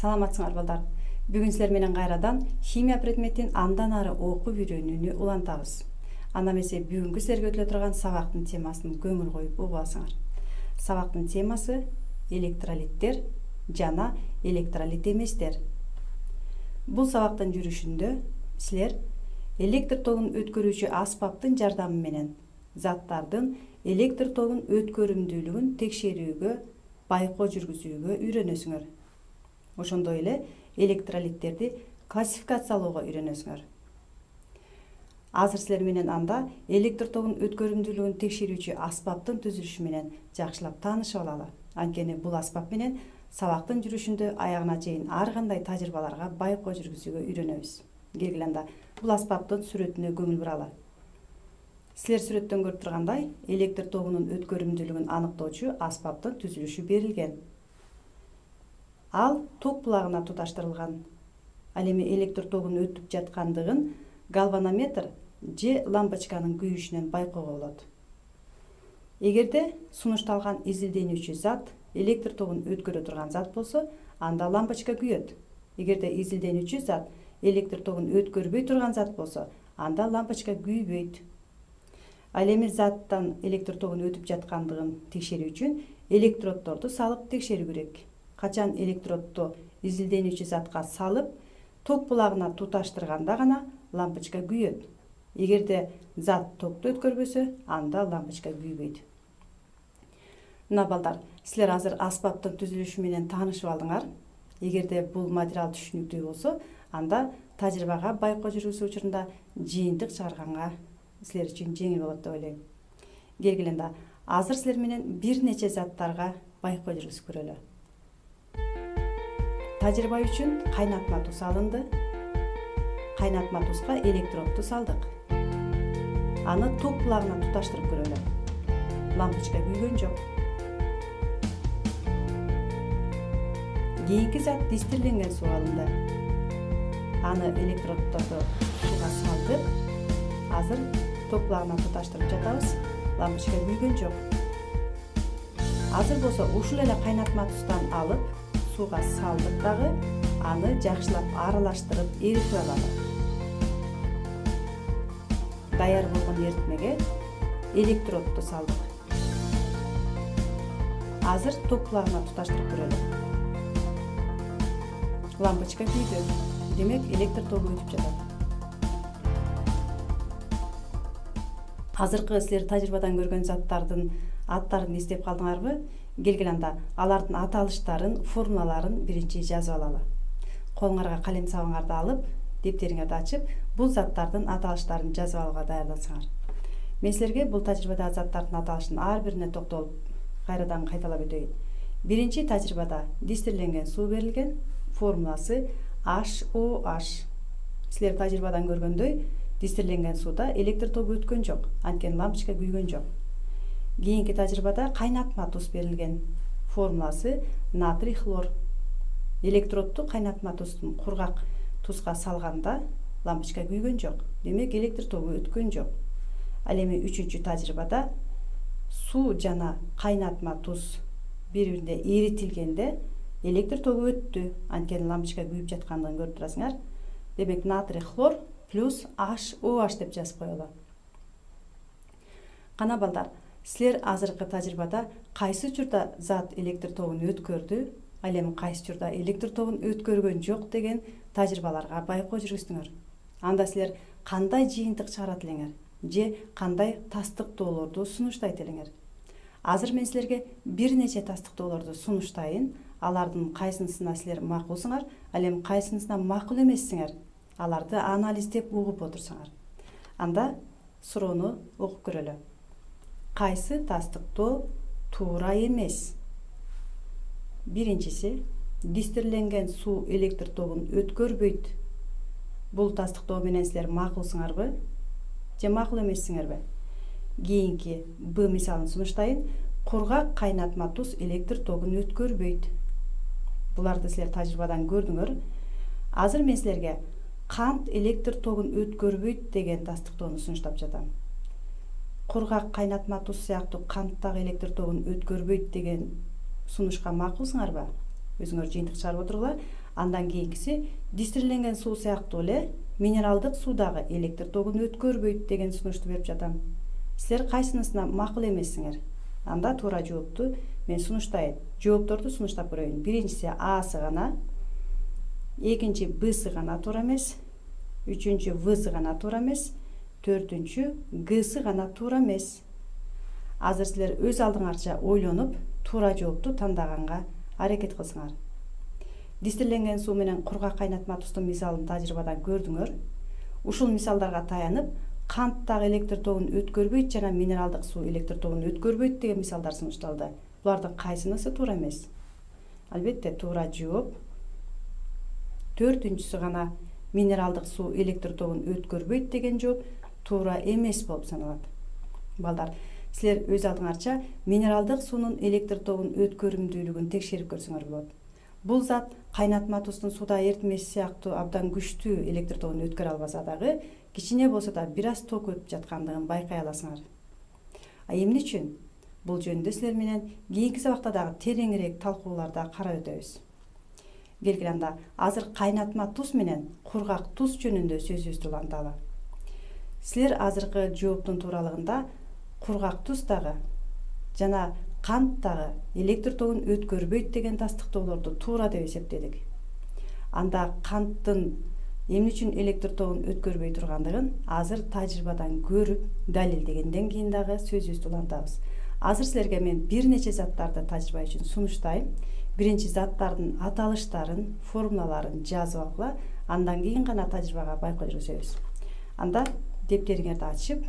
Саламатсыңар балдар. Бүгүн силер менен кайрадан химия предметин андан ары окуп үйрөнүүнү улантабыз. Анда эмесе бүгүнкү силерге өтүлө турган сабактын темасын көңүл коюп угуп алсаңар. Сабактын темасы электролиттер жана электролит эместер. Бул сабактын жүрүшүндө силер электр тогун өткөрүүчү аспаптын жардамы менен заттардын электр тогун өткөрүмдүүлүгүн текшерүүгө, байкоо жүргүзүүгө үйрөнөсүңөр. Ошондой эле электролиттерди классификациялоого үйрөнөсүңөр. Азыр силер менен анда электр тогун өткөрүмдүүлүгүн текшерүүчү аспаптын түзүлүшү менен жакшылап таанышып алалы. Анткени бул аспап менен сабактын жүрүшүндө аягына чейин ар кандай тажрыйбаларга байкоо жүргүзүүгө үйрөнөбүз. Келгиле анда бул аспаптын сүрөтүнө көңүл буралы. Силер сүрөттөн көрүп тургандай, электр тогунун өткөрүмдүүлүгүн аныктоочу аспаптын түзүлүшү берилген. Ал ток булагына туташтырылган. Ал эми электр тогунун өтүп жаткандыгын галванометр же лампочканын күйүшүнөн байкоого болот. Эгерде сунушталган изилденүүчү зат электр тогун өткөрө турган зат болсо, анда лампочка күйөт. Эгерде изилденүүчү зат электр тогун өткөрбөй турган зат болсо, анда лампочка күйбөйт. Ал эми заттан электр тогун өтүп жаткандыгын текшерүү үчүн электроддорду салып текшерүү керек. Качан электродду изилденүүчү затка салып, ток булагына туташтырганда гана лампочка күйөт. Эгерде зат токту өткөрбөсө, анда лампочка күйбөйт. Мына балдар, силер азыр аспаптын түзүлүшү менен таанышып алдыңар. Эгерде бул материал түшүнүктүү болсо, анда тажрыйбага байкоо жүргүзүү учурунда жыйынтык чыгарганга силер үчүн жеңил болот деп ойлойм. Келгиле анда азыр силер менен бир нече заттарга байкоо жүргүзүп көрөлү. Тажрыйба үчүн кайнатма туз алынды. Кайнатма тузга электродду салдык. Аны ток булагына туташтырып көрөлү. Лампочка күйгөн жок. Кийинки зат дистирленген суу алынды. Аны электроддорду сууга салдык. Азыр ток булагына туташтырып жатабыз. Лампочка күйгөн жок. Азыр болсо ушул эле кайнатма туздан алып, сууга салдык дагы, аны жакшылап аралаштырып эритип алалы. Даяр болгон эритмеге электродду салдык. Азыр ток булагына туташтырып көрөлү. Лампочка күйдү. Демек, электр тогу өтүп жатат. Азыркы силер тажрыйбадан көргөн заттардын аттарын эстеп калдыңарбы? Келгиле анда алардын аталыштарын, формулаларын биринчи жазып алалы. Колуңарга калем сабыңарды алып, дептериңерди ачып, бул заттардын аталыштарын жазып алууга даярдансыңар. Мен силерге бул тажрыйбадагы заттардын аталышын ар бирине токтолуп, кайрадан кайталап өтөйүн. Биринчи тажрыйбада дистирленген суу берилген, формуласы HOH. Силер тажрыйбадан көргөндөй, дистирленген сууда электр тогу өткөн жок, анткени лампочка күйгөн жок. Кийинки тажрыйбада кайнатма туз берилген, формуласы натрий хлор. Электродду кайнатма туздун кургак тузга салганда лампочка күйгөн жок, демек электр тогу өткөн жок. Ал эми үчүнчү тажрыйбада суу жана кайнатма туз бири-бирине эритилгенде электр тогу өттү, анткени лампочка күйүп жаткандыгын көрүп турасыңар. Демек натрий хлор плюс HOH деп жазып коелу. Кана балдар, силер азыркы тажрыйбада кайсы учурда зат электр тогун өткөрдү, ал эми кайсы учурда электр тогун өткөргөн жок деген тажрыйбаларга байкоо жүргүздүңөр. Анда силер кандай жыйынтык чыгарат элеңер же кандай тастыктоолорду сунуштайт элеңер? Азыр мен силерге бир нече тастыктоолорду сунуштайын. Алардын кайсынысына силер макулсуңар, ал эми кайсынысына макул эмессиңер, аларды анализдеп угуп отурсаңар. Анда суроону окуп көрөлү. Кайсы тастыктоо туура эмес? Биринчиси, дистирленген суу электр тогун өткөрбөйт. Бул тастыктоо менен силер макулсуңарбы же макул эмессиңерби? Кийинки Б мисалын сунуштайын. Кургак кайнатма туз электр тогун өткөрбөйт. Буларды силер тажрыйбадан көрдүңөр. Азыр мен силерге кант электр тогун өткөрбөйт деген тастыктоону сунуштап жатам. Кургак кайнатма туз сыяктуу канттагы электр тогун өткөрбөйт деген сунушка макулсуңарбы? өзүңөр жыйынтык чыгарып отургула. Андан кийинкиси дистилленген суу сыяктуу эле минералдык суудагы электр тогун өткөрбөйт деген сунушту берип жатам. Силер кайсынысына макул эмессиңер? Анда туура жоопту мен сунуштайын. Жоопторду сунуштап көрөйүн. Биринчиси Асы гана, экинчи Бсы гана туура эмес, үчүнчү Всы гана туура эмес, төртүнчү Гсы гана туура эмес. Азыр силер өз алдыңарча ойлонуп, туура жоопту тандаганга аракет кылсыңар. Дистилленген суу менен кургак кайнатма тустун мисалын тажрыйбадан көрдүңөр. Ушул мисалдарга таянып, канттагы электр тогун өткөрбөйт жана минералдык суу электр тогун өткөрбөйт деген мисалдар сунушталды. Булардын кайсынысы туура эмес? Албетте, туура жооп төртүнчүсү гана минералдык суу электр тогун өткөрбөйт деген жооп туура эмес болуп саналат. Балдар, силер өз алдыңарча минералдык суунун электр тогун өткөрүмдүүлүгүн текшерип көрсөңөр болот. Бул зат кайнатма тустун суда эритмеси сыяктуу абдан күчтүү электр тогун өткөрө албаса дагы, кичине болсо да бир аз ток өтүп жаткандыгын байкай аласыңар. Эмне үчүн? Бул жөнүндө силер менен кийинки сабакта дагы тереңирээк талкууларда карап өтөбүз. Келгиле анда азыр кайнатма туз менен кургак туз жөнүндө сөзүбүздү уланталы. Силер азыркы жооптун тууралыгында кургак туз дагы жана кант дагы электр тогун өткөрбөйт деген тастыктоолорду туура деп эсептедик. Анда канттын эмне үчүн электр тогун өткөрбөй тургандыгын азыр тажрыйбадан көрүп, далилдегенден кийин дагы сөзүбүздү улантабыз. Азыр силерге мен бир нече заттарды тажрыйба үчүн сунуштайм. Биринчи заттардын аталыштарын, формулаларын жазып алгыла, андан кийин гана тажрыйбага байкоо жүргүзөбүз. Анда дептериңерди ачып,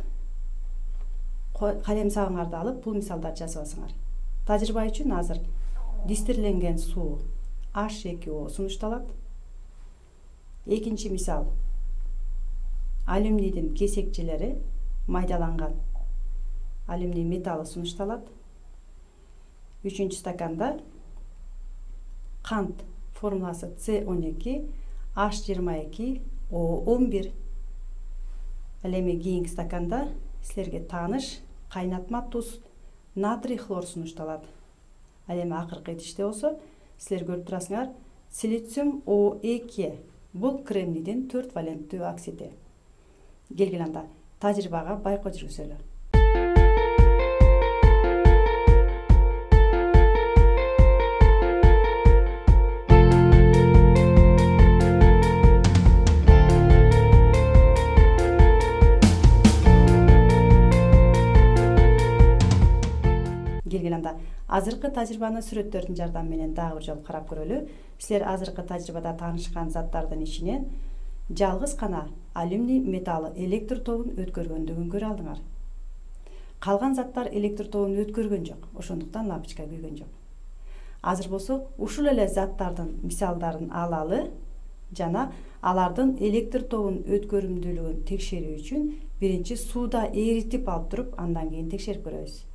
калем сабыңарды алып, бул мисалдарды жазып алсаңар. Тажрыйба үчүн азыр дистилленген суу H2O сунушталат. Экинчи мисал алюминийдин кесекчелери майдаланган алюминий металлы сунушталат. Үчүнчү стаканда кант формуласы C12 H22 O11. Ал эми кийинки стаканда силерге тааныш кайнатма туз натрий хлор сунушталат. Ал эми акыркы идиште болсо силер көрүп турасыңар, силициум O2 бул кремнийдин 4 валенттүү оксиди. Келгиле анда тажрыйбага байкоо жүргүзөлү. Келгиле анда азыркы тажрыйбаны сүрөттөрдүн жардамы менен дагы бир жолу карап көрөлү. Силер азыркы тажрыйбада таанышкан заттардын ичинен жалгыз гана алюминий металлы электр тогун өткөргөндүгүн көрө алдыңар. Калган заттар электр тогун өткөргөн жок, ошондуктан лампочка күйгөн жок. Азыр болсо ушул эле заттардын мисалдарын алалы жана алардын электр тогун өткөрүмдүүлүгүн текшерүү үчүн биринчи сууда эритип алып туруп, андан кийин текшерип көрөбүз.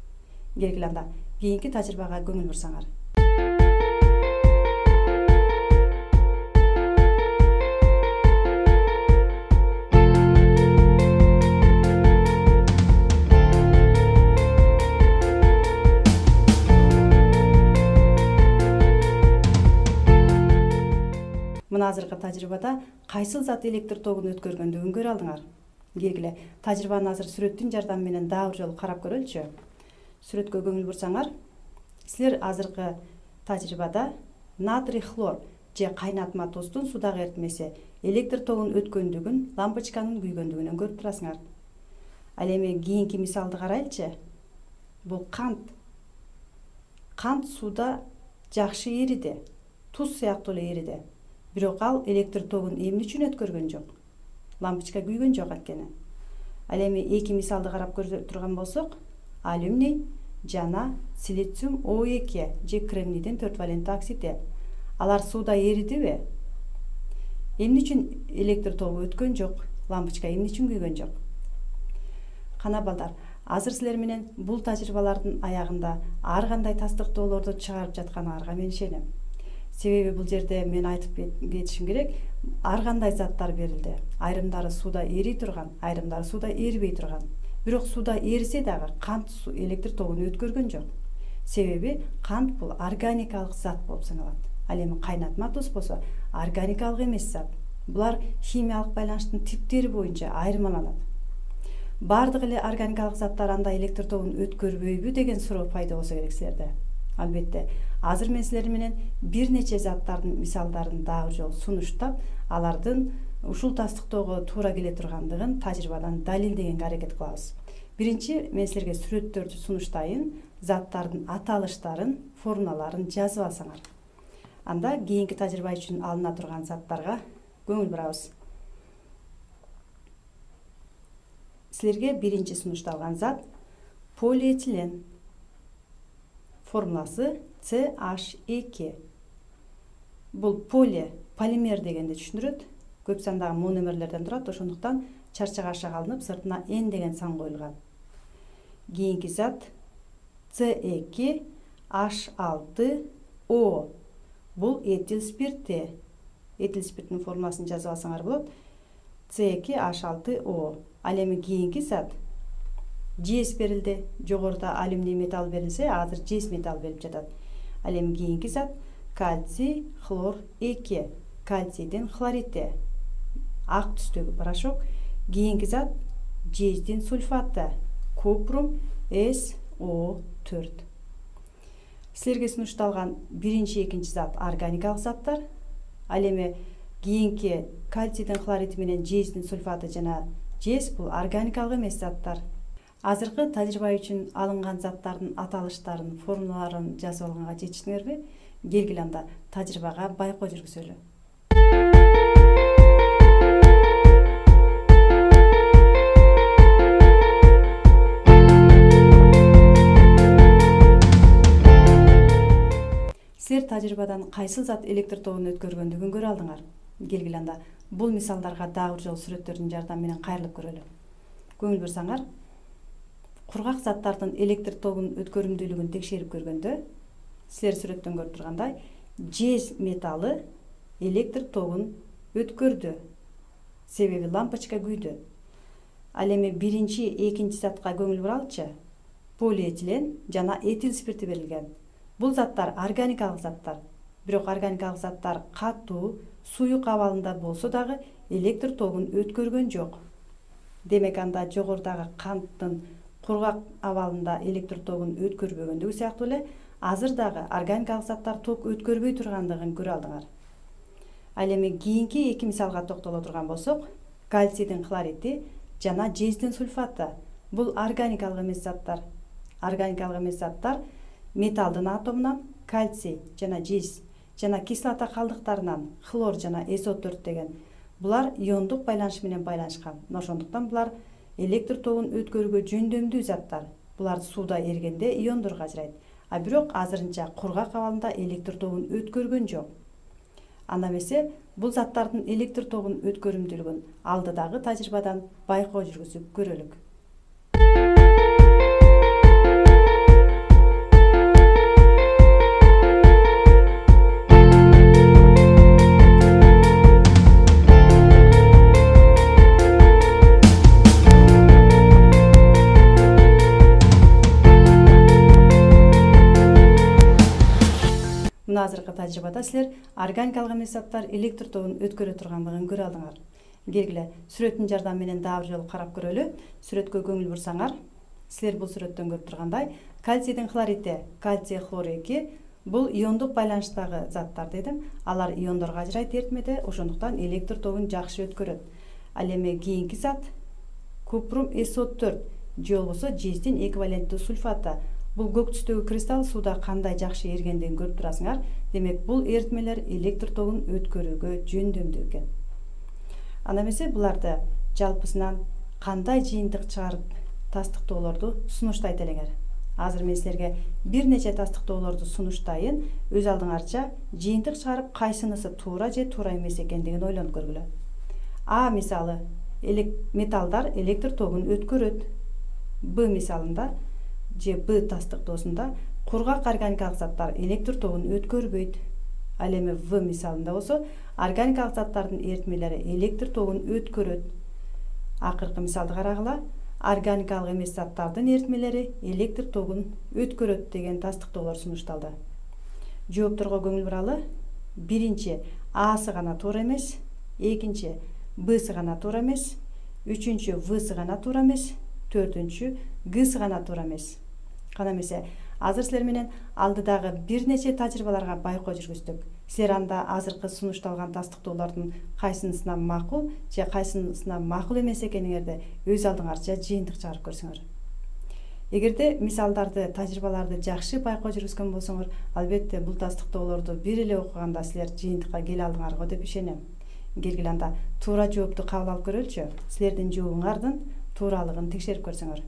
Келгиле анда кийинки тажрыйбага көңүл бурсаңар. Мына азыркы тажрыйбада кайсыл зат электр тогун өткөргөндүгүн көрө алдыңар. Келгиле тажрыйбаны азыр сүрөттүн жардамы менен дагы бир жолу карап көрөлүчү. Сүрөткө көңүл бурсаңар, силер азыркы тажрыйбада натрий хлор же кайнатма туздун судагы эритмеси электр тогун өткөндүгүн, лампочканын күйгөндүгүнөн көрүп турасыңар. Ал эми кийинки мисалды карайлычы. Бул кант. Кант сууда жакшы эриди, туз сыяктуу эле эриди. Бирок ал электр тогун эмне үчүн өткөргөн жок? Лампочка күйгөн жок анткени. Ал эми эки мисалды карап көрө турган болсок, алюминий жана силициум O2 же кремнийдин 4 валенттүү оксиди. Алар сууда эридиби? Эмне үчүн электр тогу өткөн жок? Лампочка эмне үчүн күйгөн жок? Кана балдар, азыр силер менен бул тажрыйбалардын аягында ар кандай тастыктоолорду чыгарып жатканыңарга мен ишенем. Себеби бул жерде мен айтып кетишим керек, ар кандай заттар берилди. Айрымдары сууда эрий турган, айрымдары сууда эрибей турган. Бирок сууда эрисе дагы кант электр тогун өткөргөн жок. Себеби кант бул органикалык зат болуп саналат. Ал эми кайнатма туз болсо органикалык эмес зат. Булар химиялык байланыштын типтери боюнча айырмаланат. Бардык эле органикалык заттар андай электр тогун өткөрбөйбү деген суроо пайда болсо керек силерде. Албетте, азыр мен силер менен бир нече заттардын мисалдарын дагы жолу сунуштап, алардын ушул тастыктоого туура келе тургандыгын тажрыйбадан далилдегенге аракет кылабыз. Биринчи, мен силерге сүрөттөрдү сунуштайын, заттардын аталыштарын, формулаларын жазып алсаңар. Анда кийинки тажрыйба үчүн алына турган заттарга көңүл бурабыз. Силерге биринчи сунушталган зат полиэтилен. Формуласы CH2. Бул полимер дегенди түшүндүрөт. Көп сандагы мономерлерден турат, ошондуктан чарчагашка алынып, сыртына N деген сан коюлган. Кийинки зат C2H6O. Бул этил спирти. Этил спирттин формуласын жазып алсаңар болот. C2H6O. Ал эми кийинки зат жез берилди. Жогоруда алюминий металл берилсе, азыр жез металл берип жатат. Ал эми кийинки зат кальций хлор 2. Кальцийдин хлорити. Ак түстөгү порошок. Кийинки зат жездин сульфаты. Купрум SO4. Силерге сунушталган биринчи, экинчи зат органикалык заттар. Ал эми кийинки кальцийдин хлорити менен жездин сульфаты жана жез бул органикалык эмес заттар. Азыркы тажрыйба үчүн алынган заттардын аталыштарын, формулаларын жазып алганга жетиштиңерби? Келгиле анда тажрыйбага байкоо жүргүзөлү. Силер тажрыйбадан кайсыл зат электр тогун өткөргөндүгүн көрө алдыңар. Келгиле анда бул мисалдарга дагы бир жолу сүрөттөрдүн жардамы менен кайрылып көрөлү. Көңүл бурсаңар, кургак заттардын электр тогун өткөрүмдүүлүгүн текшерип көргөндө, силер сүрөттөн көрүп тургандай, жез металлы электр тогун өткөрдү. Себеби лампочка күйдү. Ал эми биринчи, экинчи затка көңүл буралычы. Полиэтилен жана этил спирти берилген. Бул заттар органикалык заттар. Бирок органикалык заттар катуу, суюк абалында болсо дагы электр тогун өткөргөн жок. Демек анда жогорудагы канттын кургак абалында электр тогун өткөрбөгөндүгү сыяктуу эле азыр дагы органикалык заттар ток өткөрбөй тургандыгын көрө алдыңар. Ал эми кийинки эки мисалга токтоло турган болсок, кальцийдин хлорити жана жездин сульфаты. Бул органикалык эмес заттар. Органикалык эмес заттар металлдын атомунан кальций жана жез жана кислота калдыктарынан хлор жана SO4 деген. Булар иондук байланыш менен байланышкан. Ошондуктан булар электр тогун өткөрүүгө жөндөмдүү заттар. Булар сууда эригенде иондорго ажырайт. А бирок азырынча кургак абалында электр тогун өткөргөн жок. Анда эмесе бул заттардын электр тогун өткөрүмдүүлүгүн алдыдагы тажрыйбадан байкоо жүргүзүп көрөлүк. Мына азыркы тажрыйбада силер органикалык эмес заттар электр тогун өткөрө тургандыгын көрө алдыңар. Келгиле сүрөттүн жардамы менен дагы бир жолу карап көрөлү. Сүрөткө көңүл бурсаңар, силер бул сүрөттөн көрүп тургандай, кальцийдин хлорити, кальций хлор 2 бул иондук байланыштагы заттар дедим. Алар иондорго ажырайт эритмеде, ошондуктан электр тогун жакшы өткөрөт. Ал эми кийинки зат купрум SO4 же болбосо жездин эквиваленттүү сульфаты. Бул көк түстөгү кристалл сууда кандай жакшы эригендигин көрүп турасыңар. Демек бул эритмелер электр тогун өткөрүүгө жөндөмдүү экен. Анда эмесе буларды жалпысынан кандай жыйынтык чыгарып тастыктоолорду сунуштайт элеңер. Азыр мен силерге бир нече тастыктоолорду сунуштайын, өз алдыңарча жыйынтык чыгарып кайсынысы туура же туура эмес экендигин ойлонуп көргүлө. А мисалы, металлдар электр тогун өткөрөт. Б мисалында же Б тастыктоосунда кургак органикалык заттар электр тогун өткөрбөйт. Ал эми В мисалында болсо органикалык заттардын эритмелери электр тогун өткөрөт. Акыркы мисалды карагыла, органикалык эмес заттардын эритмелери электр тогун өткөрөт деген тастыктоолор сунушталды. Жоопторго көңүл буралы. биринчи Асы гана туура эмес, экинчи Бсы гана туура эмес, үчүнчү Всы гана туура эмес, төртүнчү Гсы гана туура эмес. Кана эмесе азыр силер менен алдыдагы бир нече тажрыйбаларга байкоо жүргүздүк. Силер анда азыркы сунушталган тастыктоолордун кайсынысына макул же кайсынысына макул эмес экениңерди өз алдыңарча жыйынтык чыгарып көрсөңөр. Эгерде мисалдарды, тажрыйбаларды жакшы байкоо жүргүзгөн болсоңор, албетте бул тастыктоолорду бир эле окуганда силер жыйынтыкка келе алдыңарго деп ишенем. Келгиле анда туура жоопту кабыл алып көрөлүчү. Силердин жообуңардын тууралыгын текшерип көрсөңөр.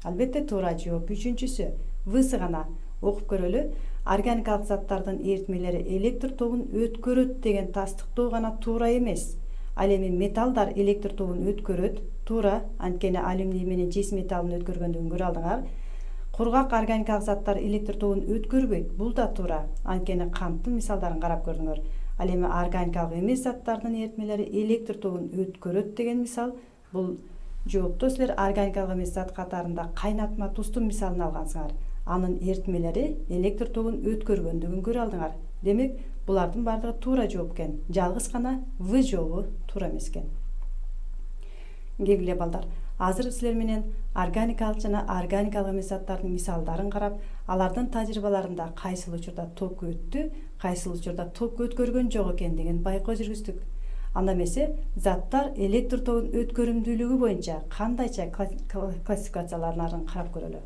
Албетте туура жооп үчүнчүсү Всы гана. Окуп көрөлү. Органикалык заттардын эритмелери электр тогун өткөрөт деген тастыктоо гана туура эмес. Ал эми металлдар электр тогун өткөрөт, туура, анткени алюминий менен жез металлын өткөргөндүгүн көрө алдыңар. Кургак органикалык заттар электр тогун өткөрбөйт, бул да туура, анткени канттын мисалдарын карап көрдүңөр. Ал эми органикалык эмес заттардын эритмелери электр тогун өткөрөт деген мисал, бул жоопто силер органикалык эмес зат катарында кайнатма туздун мисалын алгансыңар. Анын эритмелери электр тогун өткөргөндүгүн көрө алдыңар. Демек, булардын бардыгы туура жооп экен. Жалгыз гана В жообу туура эмес экен. Келгиле балдар, азыр силер менен органикалык жана органикалык эмес заттардын мисалдарын карап, алардын тажрыйбаларында кайсыл учурда ток өттү, кайсыл учурда ток өткөргөн жок экендигин байкоо жүргүздүк. Анда эмесе заттар электр тогун өткөрүмдүүлүгү боюнча кандайча классификациялаарын карап көрөлү.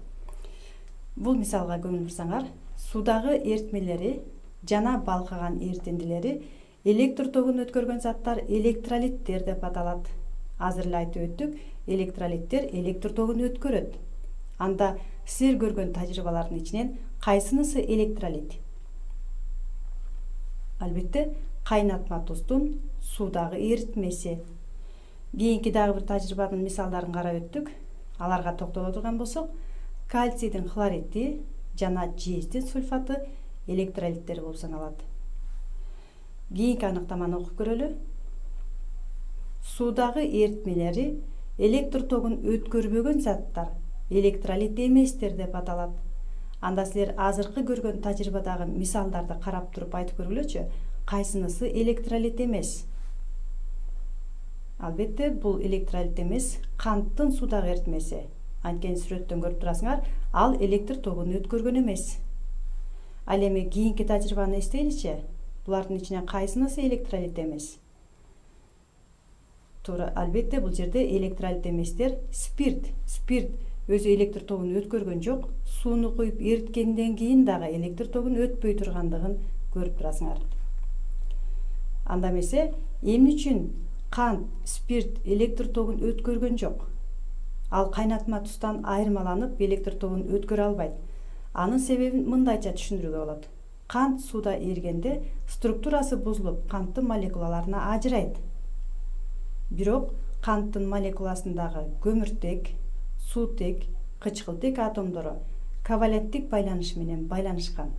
Бул мисалга көңүл бурсаңар, суудагы эритмелери жана балкыган эритиндилери электр тогун өткөргөн заттар электролиттер деп аталат. Азыр эле айтып өттүк, электролиттер электр тогун өткөрөт. Анда силер көргөн тажрыйбалардын ичинен кайсынысы электролит? Албетте, кайнатма туздун суудагы эритмеси. Кийинки дагы бир тажрыйбанын мисалдарын карап өттүк. Аларга токтоло турган болсок, кальцийдин хлориди жана жездин сульфаты электролиттер болуп саналат. Кийинки аныктаманы окуп көрөлү. Суудагы эритмелери электр тогун өткөрбөгөн заттар электролит эместер деп аталат. Анда силер азыркы көргөн тажрыйбадагы мисалдарды карап туруп айтып көргүлөчү, кайсынысы электролит эмес? Албетте, бул электролит эмес, канттын суудагы эритмеси. Анткени сүрөттөн көрүп турасыңар, ал электр тогун өткөргөн эмес. Ал эми кийинки тажрыйбаны эстейличи. Булардын ичинен кайсынысы электролит эмес? Туура, албетте бул жерде электролит эместер спирт. Спирт өзү электр тогун өткөргөн жок, сууну куюп эриткенден кийин дагы электр тогун өтпөй тургандыгын көрүп турасыңар. Анда эмесе, эмне үчүн кант, спирт электр тогун өткөргөн жок? Ал кайнатма туздан айырмаланып электр тогун өткөрө албайт. Анын себебин мындайча түшүндүрүүгө болот. Кант сууда эригенде структурасы бузулуп, канттын молекулаларына ажырайт. Бирок канттын молекуласындагы көмүртек, суутек, кычкылтек атомдору коваленттик байланыш менен байланышкан.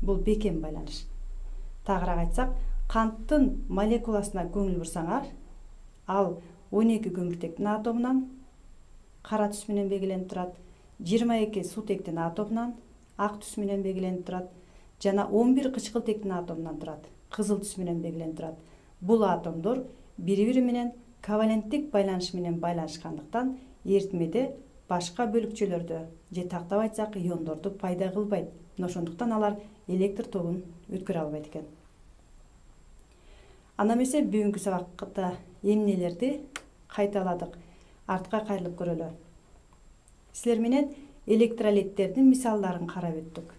Бул бекем байланыш. Тагыраак айтсак, канттын молекуласына көңүл бурсаңар, ал 12 көмүртектин атомунан кара түс менен белгиленип турат, 22 суутектин атомунан ак түс менен белгиленип турат, жана 11 кычкылтектин атомунан турат, кызыл түс менен белгиленип турат. Бул атомдор бири-бири менен коваленттик байланыш менен байланышкандыктан эритмеде башка бөлүкчөлөрдү же тактап айтсак иондорду пайда кылбайт. Ошондуктан алар электр тогун өткөрө албайт экен. Анда эмесе бүгүнкү сабакта эмнелерди кайталадык, артка кайрылып көрөлү. Силер менен электролиттердин мисалдарын карап өттүк.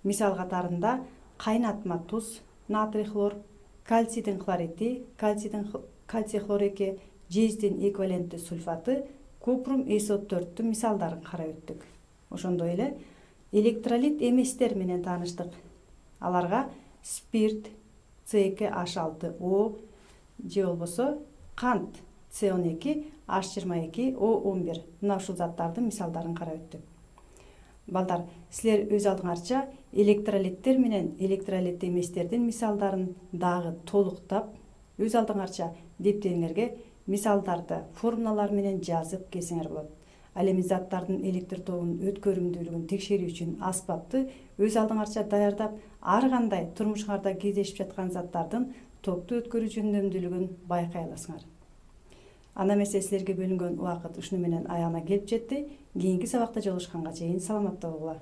Мисал катарында кайнатма туз, натрий хлор, кальцийдин хлориди, кальций хлор-2, жездин эквиваленттүү сульфаты, купрум SO4-түн мисалдарын карап өттүк. Ошондой эле электролит эместер менен тааныштык. Аларга спирт C2H6O же болбосо кант C12, H22, O11 мына ушул заттардын мисалдарын карап өттүк. Балдар, силер өз алдыңарча электролиттер менен электролит эместердин мисалдарын дагы толуктап, өз алдыңарча дептериңерге мисалдарды формулалар менен жазып келсеңер болот. Ал эми заттардын электр тогунун өткөрүмдүүлүгүн текшерүү үчүн аспапты өз алдыңарча даярдап, ар кандай турмушуңарда кездешип жаткан заттардын токту өткөрүү жөндөмдүүлүгүн байкай аласыңар. Анда эмесе силерге бөлүнгөн убакыт ушуну менен аягына келип жетти. Кийинки сабакта жолугушканга чейин саламатта болгула.